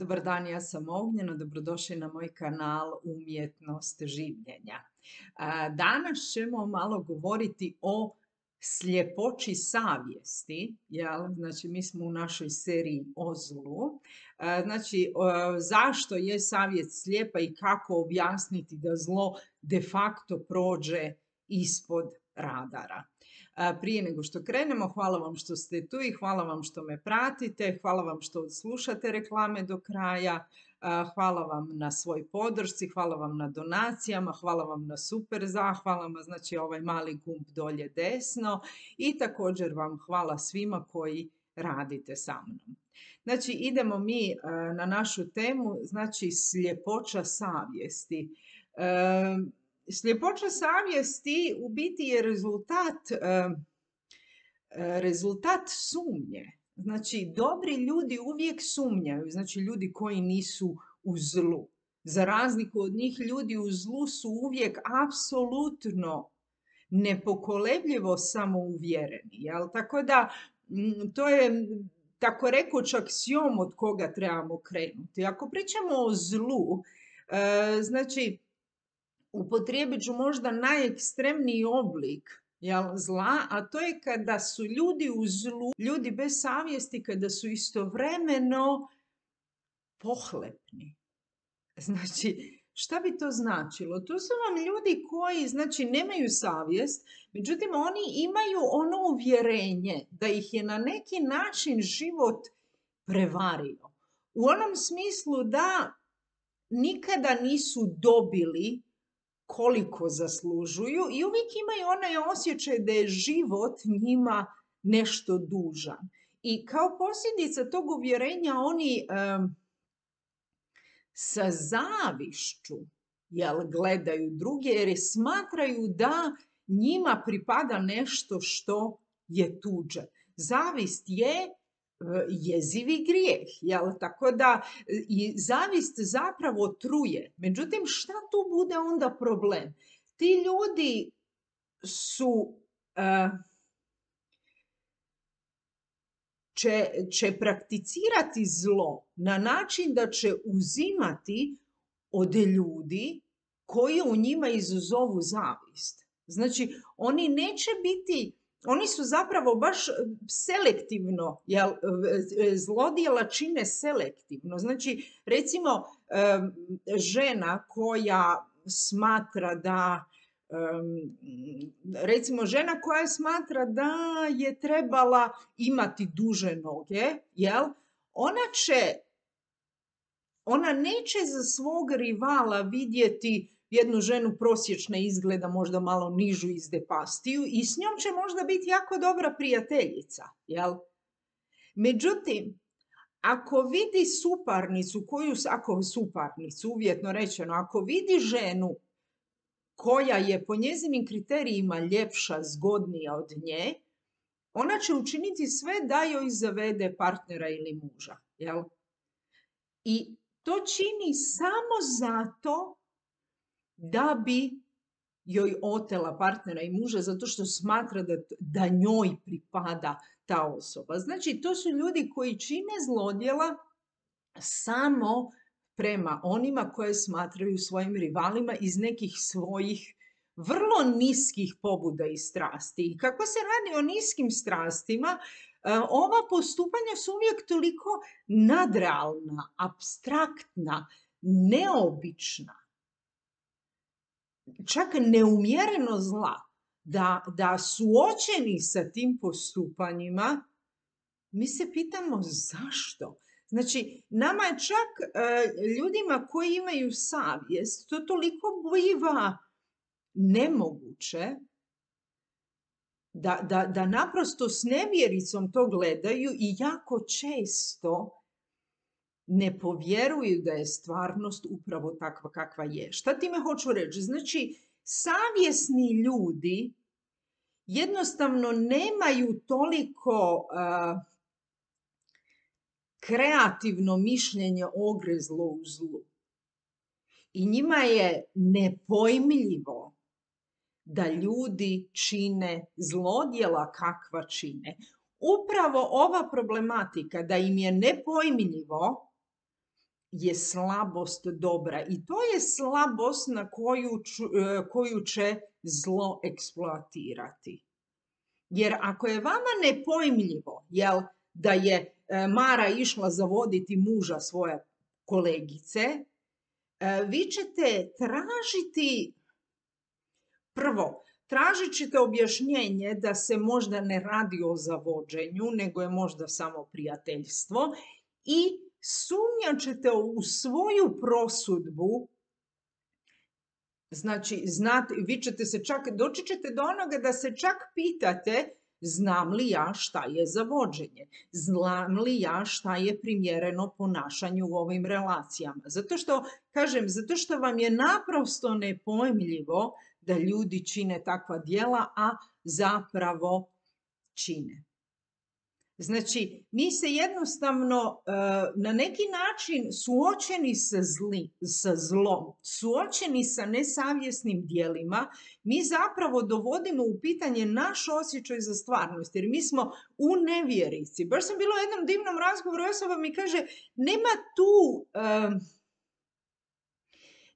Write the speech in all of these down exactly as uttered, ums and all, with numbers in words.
Dobar dan, ja sam Ognjena, dobrodošli na moj kanal Umjetnost življenja. A, Danas ćemo malo govoriti o sljepoći savjesti, jel? Znači mi smo u našoj seriji o zlu. A, Znači o, zašto je savjest slijepa i kako objasniti da zlo de facto prođe ispod radara. Prije nego što krenemo, hvala vam što ste tu i hvala vam što me pratite, hvala vam što slušate reklame do kraja, hvala vam na svoj podršci, hvala vam na donacijama, hvala vam na super zahvalama, znači ovaj mali gumb dolje desno i također vam hvala svima koji radite sa mnom. Znači idemo mi na našu temu, znači sljepoća savjesti. Sljepoća savjesti u biti je rezultat, rezultat sumnje. Znači, dobri ljudi uvijek sumnjaju, znači ljudi koji nisu u zlu. Za razliku od njih, ljudi u zlu su uvijek apsolutno nepokolebljivo samouvjereni. Jel? Tako da, to je tako rekuć aksiom od koga trebamo krenuti. Ako pričamo o zlu, znači, upotrijebit ću možda najekstremniji oblik jel, zla, a to je kada su ljudi u zlu, ljudi bez savjesti, kada su istovremeno pohlepni. Znači, šta bi to značilo? To su vam ljudi koji, znači, nemaju savjest, međutim, oni imaju ono uvjerenje da ih je na neki način život prevario. U onom smislu da nikada nisu dobili koliko zaslužuju i uvijek imaju onaj osjećaj da je život njima nešto dužan. I kao posljedica tog uvjerenja oni um, sa zavišću jel, gledaju druge jer smatraju da njima pripada nešto što je tuđe. Zavist je jezivi grijeh, jel? Tako da i zavist zapravo truje. Međutim, šta tu bude onda problem? Ti ljudi su, uh, će, će prakticirati zlo na način da će uzimati od ljudi koji u njima izazovu zavist. Znači, oni neće biti Oni su zapravo baš selektivno, jel, zlodjela čine selektivno. Znači, recimo, žena koja smatra da, recimo, žena koja smatra da je trebala imati duže noge, jel, ona će, ona neće za svog rivala vidjeti jednu ženu prosječna izgleda, možda malo nižu izdepastiju i s njom će možda biti jako dobra prijateljica, jel? Međutim, ako vidi suparnicu, koju, ako suparnicu, uvjetno rečeno, ako vidi ženu koja je po njezinim kriterijima ljepša, zgodnija od nje, ona će učiniti sve da joj zavede partnera ili muža, jel? I to čini samo zato da bi joj otela partnera i muža zato što smatra da, da njoj pripada ta osoba. Znači, to su ljudi koji čine zlodjela samo prema onima koje smatraju svojim rivalima iz nekih svojih vrlo niskih pobuda i strasti. I kako se radi o niskim strastima, ova postupanja su uvijek toliko nadrealna, apstraktna, neobična, čak neumjereno zla, da, da suočeni sa tim postupanjima, mi se pitamo zašto. Znači, nama je čak ljudima koji imaju savjest, to toliko biva nemoguće da, da, da naprosto s nevjericom to gledaju i jako često ne povjeruju da je stvarnost upravo takva kakva je. Šta time hoću reći? Znači, savjesni ljudi jednostavno nemaju toliko uh, kreativno mišljenje ogrezlo u zlu. I njima je nepojmljivo da ljudi čine zlodjela kakva čine. Upravo ova problematika da im je nepojmljivo je slabost dobra i to je slabost na koju, koju će zlo eksploatirati. Jer ako je vama nepojmljivo, jel, da je Mara išla zavoditi muža svoje kolegice, vi ćete tražiti, prvo, tražit ćete objašnjenje da se možda ne radi o zavođenju, nego je možda samo prijateljstvo i sumnjat ćete u svoju prosudbu. Znači, znate, vi ćete se čak, doći ćete do onoga da se čak pitate znam li ja šta je zavođenje, znam li ja šta je primjereno ponašanju u ovim relacijama. Zato što, kažem, zato što vam je naprosto nepojmljivo da ljudi čine takva djela, a zapravo čine. Znači, mi se jednostavno na neki način suočeni sa, zli, sa zlom, suočeni sa nesavjesnim djelima, mi zapravo dovodimo u pitanje naš osjećaj za stvarnost, jer mi smo u nevjerici. Baš sam bila u jednom divnom razgovoru, osoba mi kaže, nema tu... Um,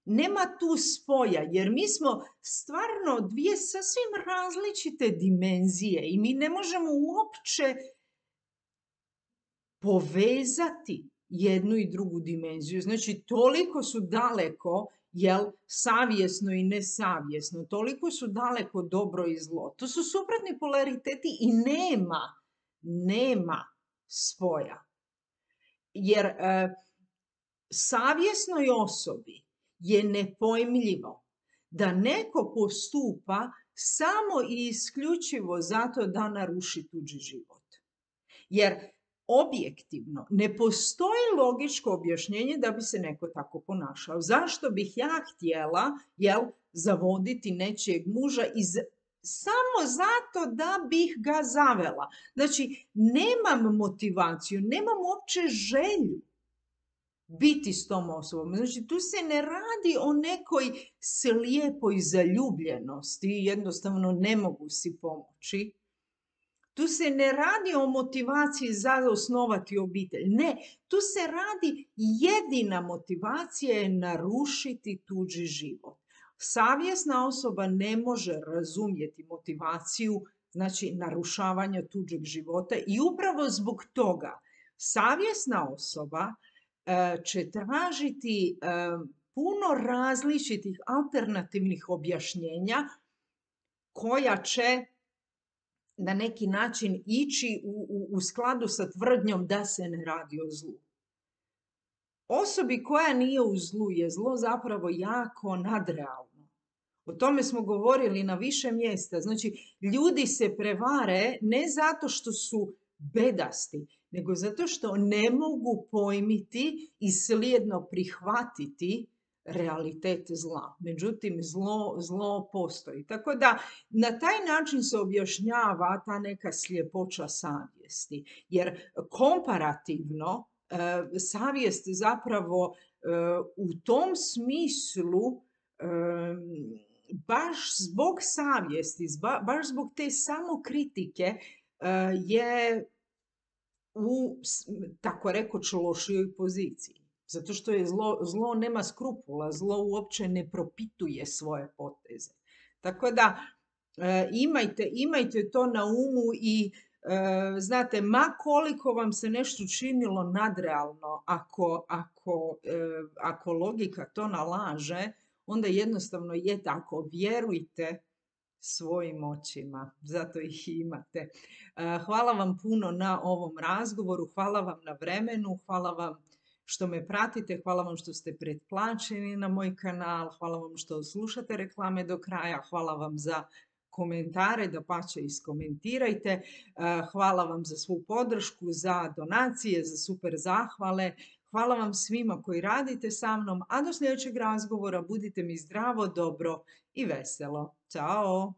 Nema tu spoja, jer mi smo stvarno dvije sasvim različite dimenzije i mi ne možemo uopće povezati jednu i drugu dimenziju. Znači, toliko su daleko, jel, savjesno i nesavjesno, toliko su daleko dobro i zlo. To su suprotni polariteti i nema, nema spoja. Jer e, savjesnoj osobi je nepojmljivo da neko postupa samo i isključivo zato da naruši tuđi život. Jer objektivno ne postoji logičko objašnjenje da bi se neko tako ponašao. Zašto bih ja htjela, jel, zavoditi nečijeg muža iz, samo zato da bih ga zavela? Znači, nemam motivaciju, nemam uopće želju biti s tom osobom. Znači, tu se ne radi o nekoj slijepoj zaljubljenosti, jednostavno ne mogu si pomoći. Tu se ne radi o motivaciji za osnovati obitelj. Ne, tu se radi, jedina motivacija je narušiti tuđi život. Savjesna osoba ne može razumjeti motivaciju, znači narušavanja tuđeg života i upravo zbog toga savjesna osoba će tražiti puno različitih alternativnih objašnjenja koja će na neki način ići u, u, u skladu sa tvrdnjom da se ne radi o zlu. Osobi koja nije u zlu je zlo zapravo jako nadrealno. O tome smo govorili na više mjesta. Znači, ljudi se prevare ne zato što su bedasti, nego zato što ne mogu pojmiti i slijedno prihvatiti realitet zla. Međutim, zlo, zlo postoji. Tako da na taj način se objašnjava ta neka sljepoća savjesti. Jer komparativno e, savjest zapravo e, u tom smislu e, baš zbog savjesti, baš zbog te samokritike e, je u, tako rekoć, lošijoj poziciji. Zato što je zlo, zlo nema skrupula, zlo uopće ne propituje svoje poteze. Tako da e, imajte, imajte to na umu i e, znate, ma koliko vam se nešto činilo nadrealno, ako, ako, e, ako logika to nalaže, onda jednostavno je tako. Vjerujte svojim očima, zato ih imate. E, hvala vam puno na ovom razgovoru, hvala vam na vremenu, hvala vam što me pratite, hvala vam što ste pretplaćeni na moj kanal, hvala vam što slušate reklame do kraja, hvala vam za komentare, dapače iskomentirajte, hvala vam za svu podršku, za donacije, za super zahvale, hvala vam svima koji radite sa mnom, a do sljedećeg razgovora budite mi zdravo, dobro i veselo. Ćao!